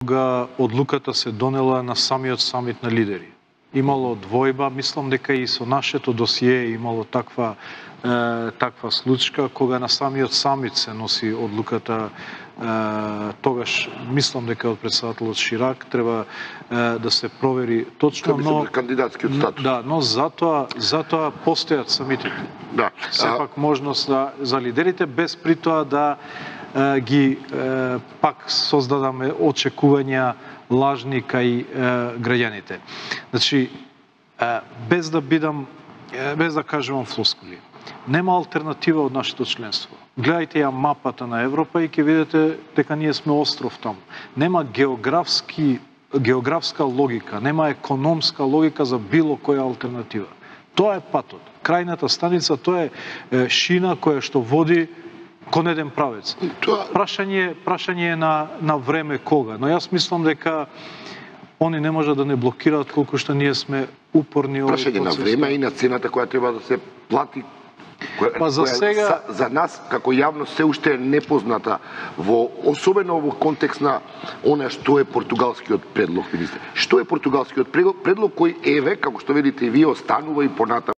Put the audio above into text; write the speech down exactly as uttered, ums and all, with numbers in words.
кога одлуката се донела на самиот самит на лидери. Имало двојба, мислам дека и со нашето досие имало таква е, таква случка, кога на самиот самит се носи одлуката, е, тогаш мислам дека од претседателот Ширак треба е, да се провери точно, но кандидатскиот статус. Да, но затоа затоа постојат самитите. Да. Сепак можност за, за лидерите без при тоа да е, ги е, пак создадаме очекувања лажни кај е, граѓаните. Значи, е, без да бидам, е, без да кажувам флоскули, нема алтернатива од нашето членство. Гледајте ја мапата на Европа и ќе видите дека ние сме остров таму. Нема географски, географска логика, нема економска логика за било која алтернатива. Тоа е патот. Крајната станица, тоа е шина која што води кон еден правец. Прашање, прашање е на, на време кога, но јас мислам дека они не можат да не блокираат колку што ние сме упорни овој процес. Прашање на време и на цената која треба да се плати, која, па за која сега за, за нас како јавност се уште е непозната, во особено во контекст на она што е португалскиот предлог, министре. Што е португалскиот предлог, предлог кој еве, како што видите и вие, останува и понатаму